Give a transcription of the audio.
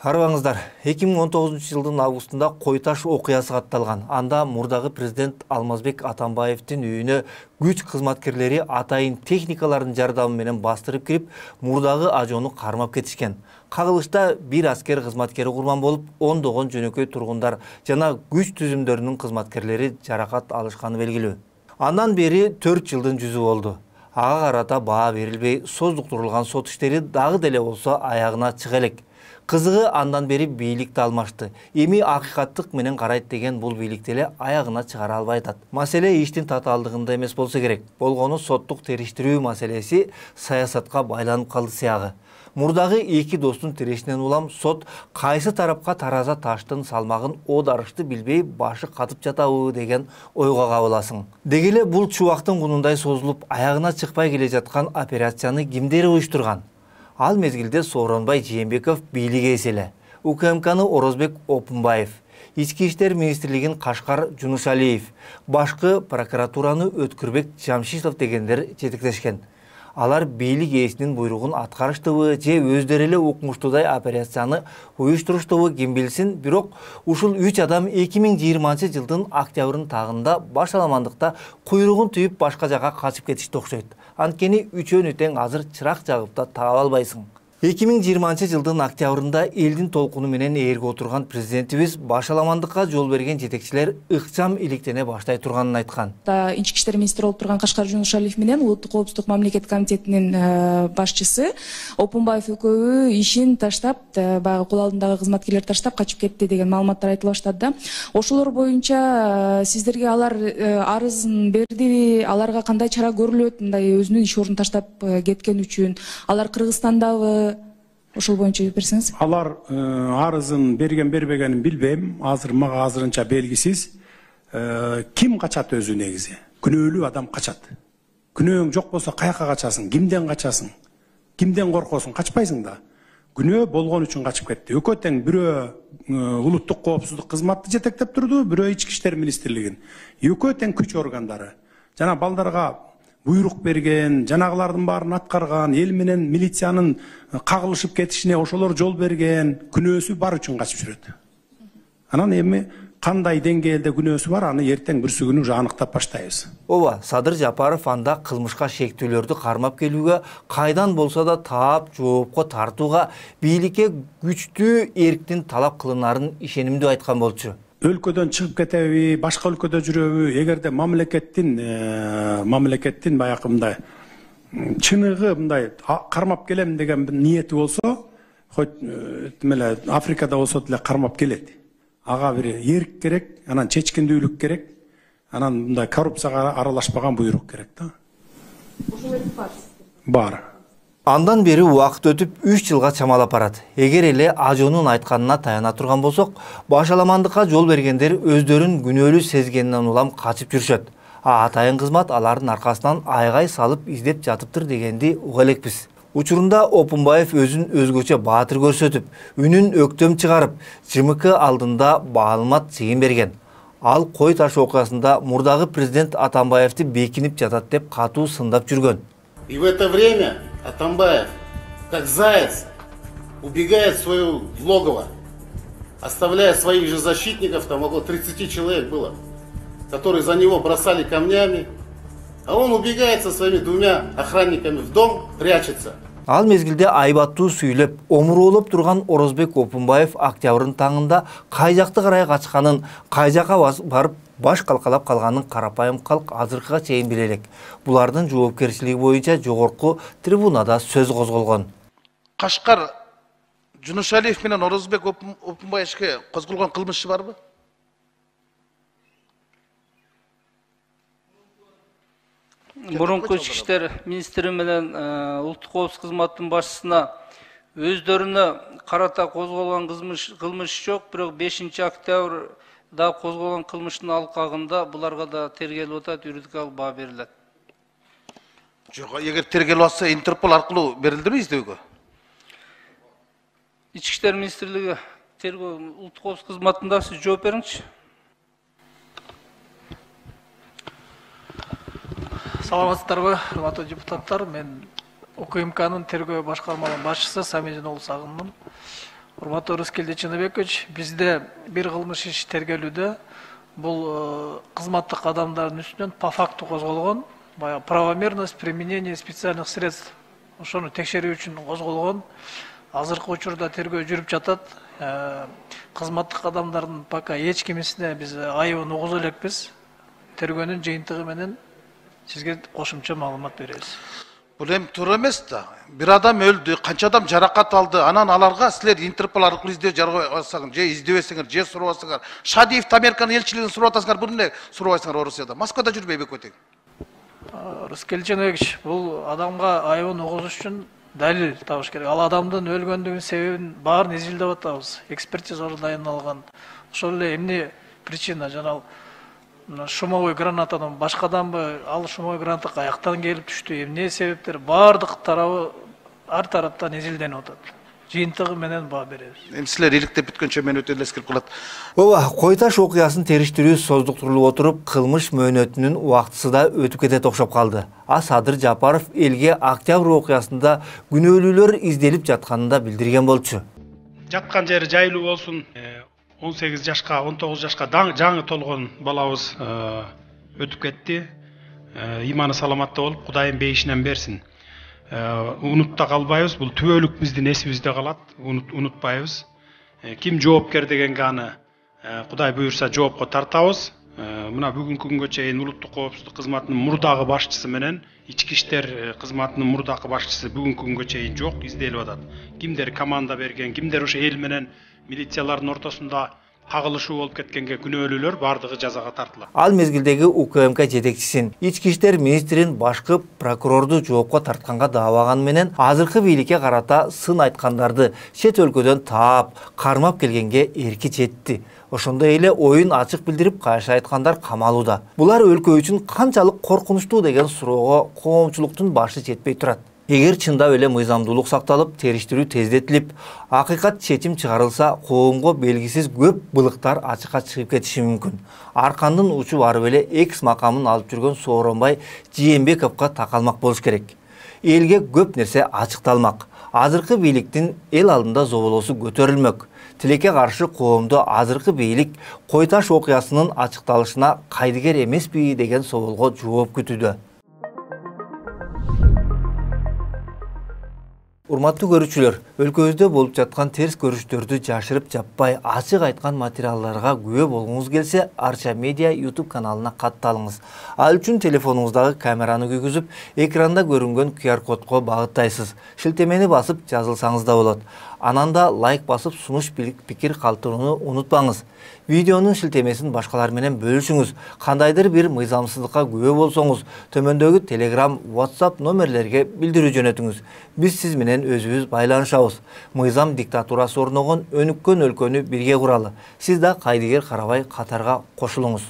Арбаңыздар, 2019 жылдын августунда Койташ окуясы катталган. Анда мурдагы президент Алмазбек Атамбаевдин үйүнө күч кызматкерлери атайын техникалардын жардамы менен бастырып кирип, мурдагы ажоону кармап кетишкен. Кагылышта бир аскер кызматкери курман болуп, ондогон жөнөкөй тургундар жана күч түзүмдөрүнүн кызматкерлери жаракат алышканы белгилүү. Андан бери 4 жылдын жүзү болду. Ага карата баа берилбей, создуктурулган сот иштери дагы деле болсо аягына чыга элек. Кызыгы андан бери бийликти алмашты. Эми акыйкаттык менен карайт деген бул бийлик деле аягына чыгара албай атат. Маселе иштин татаалдыгында эмес болсо керек. Болгону соттук териштирүү маселеси саясатка байланып калды сыягы. Мурдагы эки достун тирешинен улам сот кайсы тарапка тараза таштын салмагын оодарышты билбей башы катып жатабы деген ойго кабыласың. Деги эле бул чубактын кунундай созулуп, аягына чыкпай келе жаткан операцияны кимдер уюштурган? Ал мезгилде Сооронбай Жээнбеков бийлик ээси эле. УКМКны Орозбек Опунбаев, Ички иштер министрлигин Кашкар Жунушалиев, башкы прокуратураны Өткүрбек Жамшитов дегендер жетектешкен. Алар бийлик ээсинин буйругун аткарыштыбы же өздөрү эле укмуштуудай операцияны уюштуруштубу ким билсин, бирок ушул 3 адам 2020 жылдын октябрынын тагында башаламандыкта куйругун түйүп башка жака качып кетишти окшойт. Анткени үчөөнү тең азыр чырак жагып да таап албайсың. 2020 жылдын октябрында элдин толкуну менен ээрге отурган президентибиз башаламандыкка жол берген жетекчилер ыкчам иликтене баштай турганын айткан. Ички иштер министри болуп турган Кашкар Жунушалиев менен Улуттук коопсуздук мамлекет комитетинин башчысы Опунбаев экөө ишин таштап, баягы кул алдындагы кызматкерлерди таштап качып кетти деген маалыматтар айтыла баштады да. Ошолор боюнча сиздерге алар арызын бердиби, аларга кандай чара көрүлөт, мындай өзүнүн иш ордун таштап кеткен үчүн? Алар Кыргызстандабы? Ошол боюнча берсеңиз. Алар арызын берген бербегенин билбейм. Азыр мага азырынча белгисиз. Ким качат өзү негизи? Күнөөлүү адам качат. Күнөөң жок болсо каяка качасың? Кимден качасың? Кимден коркосуң? Качпайсың да. Күнөө болгон үчүн качып кетти. Экөө тең бирөө улуттук коопсуздук кызматты жетектеп турду, бирөө ички иштер министрлигин. Экөө тең күч органдары. Жана балдарга буйрук берген, жанагылардын баарын аткарган, эл менен милициянын кагылышып кетишине ошолор жол берген, күнөөсү бар үчүн качып жүрөт. Анан эми кандай деңгээлде күнөөсү бар, аны эртең бүрсү күнү уже аныктап баштайбыз. Ооба, Садыр Жапаров анда кылмышка шектүүлөрдү кармап келүүгө, кайдан болсо да таап жоопко тартууга, бийликке күчтүү эрктин талап кылынарын ишенимдүү айткан болчу. Өлкөдөн чыгып кетеби, башка өлкөдө жүрөбү, эгерде мамлекеттин баягы мындай чыныгы мындай кармап келем деген ниети болсо, хоть эле Африкада болсо деле кармап келет. Ага бир эрк керек, анан чечкиндүүлүк керек, анан мындай коррупцияга аралашпаган буйрук керек да. Ошол эрк бар. Бар. Андан бери убакыт өтүп 3 жылга чамалап барат. Эгер эле ажоонун айтканына таяна турган болсок, башаламандыкка жол бергендер өздөрүн күнөөлүү сезгенинен улам качып жүрүшөт. Атайын кызмат алардын аркасынан айгай салып издеп жатыптыр дегенди уга элекпиз. Учурунда Опунбаев өзүн өзгөчө баатыр көрсөтүп, үнүн өктөм чыгарып, ЖМК алдында маалымат чыйын берген. Ал Койташ окуясында мурдагы президент Атамбаевди бекинип жатат деп катуу сындап жүргөн. И в это время Атамбаев, как заяц, убегает в свое логово, оставляя своих же защитников, там около 30 человек было, которые за него бросали камнями, а он убегает со своими 2 охранниками в дом, прячется. Ал мезгилде айбаттуу сүйлөп, омуроолоп турган Орозбек Опунбаев октябрдын таңында кай жакты карай качканын, кай жака барып баш калкалап калганын карапайым калк азыркыга чейин биле элек. Булардын жоопкерчилиги боюнча жогорку трибунада сөз козголгон. Кашкар Жунушалиев менен Орозбек Опунбаевке козголгон кылмыш барбы? Мурунку ички иштер министри менен улуттук коопсуздук кызматынын башчысына өздөрүнө карата козголгон кылмыш жок, бирок 5-октябрда козголгон кылмыштын алкагында буларга да тергелип атат, юридикалык баа берилет. Жок, эгер тергелип атса, Интерпол аркылуу берилдиби издөөгө? Ички иштер министрлиги тергөө улуттук коопсуздук кызматында сиз жооп бериңизчи. Саламатсыздарбы, урматтуу депутаттар. Мен УКМКнын тергөө башкармалыгынын башчысы Самижин Сагынмын. Урматтуу Рыскелди Чыныбекович, бизде бир кылмыш иши тергелүүдө. Бул кызматтык адамдардын үстүнөн по факту козголгон. Баягы правомерность применения специальных средств. Ошону текшерүү үчүн козголгон. Азыркы учурда тергөө жүрүп жатат. Кызматтык адамдардын пока эч кимисине биз айыбын угуза элекпиз. Тергөөнүн жыйынтыгы менен сизге кошумча маалымат беребиз. Бул эми туура эмес да. Бир адам өлдү, канча адам жаракат алды. Анан аларга силер Интерпол аркылуу издөө жаргабасаңар, же издебесеңер, же сурабасаңар. Шадиев Американын элчилигин сурап атасыңар, бул эмне сурабайсыңар Орусияда? Москвада жүрбөйбү көтөң? Рыскелди Чыныбекович, бул адамга айыбын угузуш үчүн далил табыш керек. Ал адамдын өлгөндүгүнүн себебин баарын изилдеп атабыз. Экспертизалар дайындалган. Ошол эле эмне причина жана шумовой гранатадан башкаданбы, ал шумовой граната каяктан келип түштү, эмне себептер, баардык тарабы ар тараптан изилденип атат. Жыйынтыгы менен баа беребиз. Эми силер иликтеп бүткөнчө мен өтө эле эскерип калат. Ооба, Кой Таш окуясын териштирүү создуктурулуп отуруп, кылмыш мөөнөтүнүн убактысы да өтүп кетет окшоп калды. Садыр Жапаров элге октябрь окуясында күнөөлүүлөр изделип жатканын да билдирген болчу. Жаткан жери жайлуу болсун. 18 жашка, 19 жашка жаңы толгон балабыз өтүп кетти. Иманы саламатта болуп, Кудайым бейишинен берсин. Унутта калбайбыз, бул түбөлүк биздин эсибизде калат, унутпайбыз. Ким жоопкер дегенге аны Кудай буйрса жоопко тартабыз. Мына бүгүнкү күнгө чейин улуттук коопсуздук кызматынын мурдагы башчысы менен ички иштер кызматынын мурдагы башчысы бүгүнкү күнгө чейин жок, изделип атат. Кимдер команда берген, кимдер ошо эл менен милициялардын ортосунда кагылышуу болуп кеткенге күнөөлүүлөр бардыгы жазага тартылат. Ал мезгилдеги УКМК жетекчисин, ички иштер министрин башкы прокурорду жоопко тартканга даабаганы менен азыркы бийликке карата сын айткандарды чет өлкөдөн таап, кармап келгенге эрки жетти. Ошондой эле оюн ачык билдирип кайшы айткандар камалууда. Булар өлкө үчүн канчалык коркунучтуу деген суроого коомчулуктун башы жетпей турат. Эгер чындап эле мыйзамдуулук сакталып, териштирүү тездетилип, акыйкат чечим чыгарылса, коомго белгисиз көп былыктар ачыкка чыгып кетиши мүмкүн. Аркандын учу барып эле экс макамын алып жүргөн Сооронбай Жээнбековго такалмак болуш керек. Элге көп нерсе ачыкталмак. Азыркы бийликтин эл алдында зоболосу көтөрүлмөк. Тилекке каршы коомду азыркы бийлик Кой Таш окуясынын ачыкталышына кайдыгер эмеспи деген соолго жооп күтүүдө. Урматтуу көрүүчүлөр, өлкөбүздө болуп жаткан терс көрүштөрдү жашырып жаппай ачык айткан материалдарга күбө болгуңуз келсе, Арча Медиа YouTube каналына катталыңыз. Ал үчүн телефонуңуздагы камераны күйгүзүп, экранда көрүнгөн QR кодко багыттайсыз. Шилтемени басып жазылсаңыз да болот. Анан да лайк басып сунуш пикир калтырууну унутпаңыз. Видеонун шилтемесин башкалар менен бөлүшүңүз. Кандайдыр бир мыйзамсыздыкка күбө болсоңуз, төмөндөгү Telegram, WhatsApp номерлерге билдирүү жөнөтүңүз. Биз сиз менен өзүбүз байланышабыз. Мыйзам диктатурасы орногон өнүккөн өлкөнү бирге куралы. Сиз да кайдыгер карабай катарга кошулуңуз.